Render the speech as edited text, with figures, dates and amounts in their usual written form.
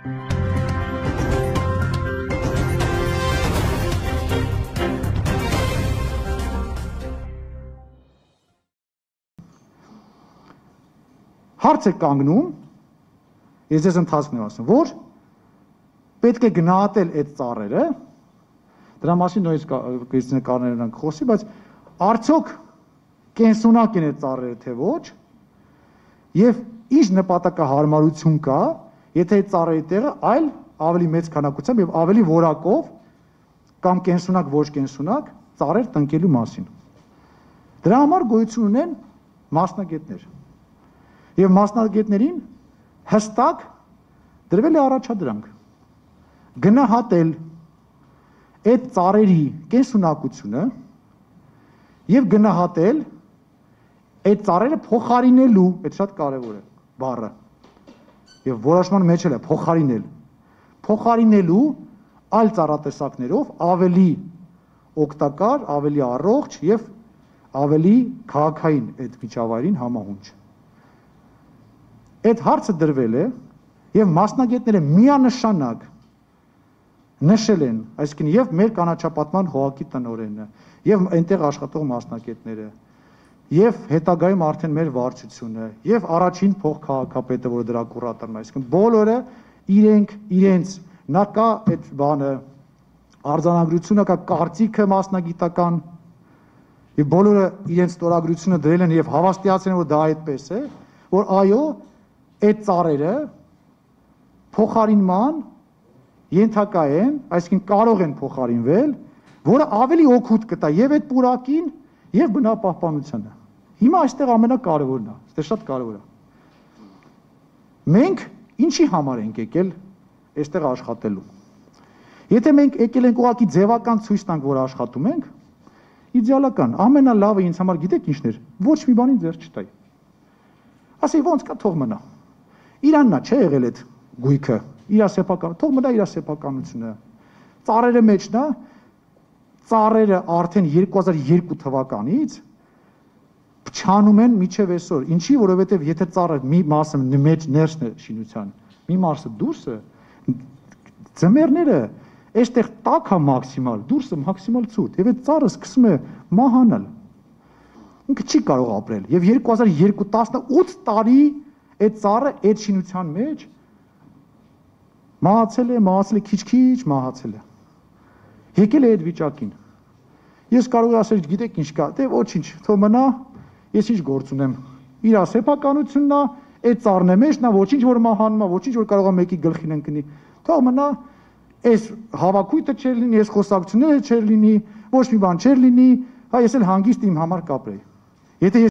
Հարց է կանգնում, ես ձեզ ընթացքն եմ ասում, որ պետք է գնահատել այդ ծառերը, դրա մասին նույնիսկ Կրիստինե Կարներն խոսի, բայց արդյոք կենսունակ են այդ ծառերը թե ոչ, եւ ինչ նպատակահարմարություն կա, եթե այդ ծառերի տեղը այլ ավելի մեծ քանակությամբ եւ ավելի որակով կամ կենսունակ ոչ կենսունակ ծառեր տնկելու մասին։ Դրա համար գոյություն ունեն մասնագետներ։ Եվ մասնագետներին հստակ դրվել է առաջադրանք գնահատել այդ ծառերի կենսունակությունը եւ գնահատել այդ ծառերը փոխարինելու, այդ շատ կարեւոր է բառը։ Եվ որոշման մեջ էլ է փոխարինելու այլ ծառատեսակներով ավելի օգտակար, ավելի առողջ եւ ավելի քաղաքային այդ միջավայրին համահունչ։ Այդ հարցը դրվել է եւ մասնագետները միանշանակ նշել են, այսինքն եւ մեր կանաչապատման հողակի տնօրենը, եւ այնտեղ աշխատող մասնագետները, եւ հետագայում արդեն մեր վարչությունը, եւ առաջին փոխքաղաքապետը, որը դրա կուրատորն է, այսինքն բոլորը իրենց նա կա այդ բանը արձանագրությունը, կա կարծիքը մասնագիտական, եւ բոլորը իրենց ստորագրությունը դրել են եւ հավաստիացրել են, որ դա այդպես է, որ այո, այդ ծառերը փոխարինման ենթակա են, այսինքն կարող են փոխարինվել, որը ավելի օգուտ կտա եւ այդ պուրակին եւ բնապահպանությանը։ Հիմա այստեղ ամենակարևորն է, այստեղ շատ կարևոր է։ Մենք ինչի համար ենք եկել այստեղ աշխատելու։ Եթե մենք եկել ենք ուղղակի ձևական ցույց տանք, որ աշխատում ենք, իդեալական, ամենալավը ինձ համար գիտեք ինչն էր, ոչ մի բանին ձեռ չտայի։ Ասեի ոնց կա թող մնա։ Իրանն է չէ եղել այդ գույքը, իր սեփական, թող մնա իր սեփականությունը։ Ծառերը մեջն է, ծառերը արդեն 2002 թվականից փչանում են միջև այսօր։ Ինչի, որովհետև եթե ծառը մի մասը մեջ ներսն է շինության, մի մասը դուրսը, ձմեռները այստեղ տաք է մաքսիմալ, դուրսը մաքսիմալ ցուրտ, եւ այդ ծառը սկսում է մահանալ։ Ինքը չի կարող ապրել։ Եվ 2018 տարի այդ ծառը այդ շինության մեջ մահացել է քիչ-քիչ մահացել է։ Եկել է այդ վիճակին։ Ես կարող եմ ասել, գիտեք ինչ կա, դե ոչինչ, թող մնա, ես ինչ գործ ունեմ։ Իր սեփականությունն է, այդ ծառն է մեջն է, ոչինչ որ մահանում է, ոչինչ որ կարող է մեկի գլխին ընկնի։ Թող մնա, այս հավաքույթը չեր լինի, այս խոսակցությունները չեր լինի, ոչ մի բան չեր լինի, հա ես էլ հանգիստ իմ համար կապրեի։ Եթե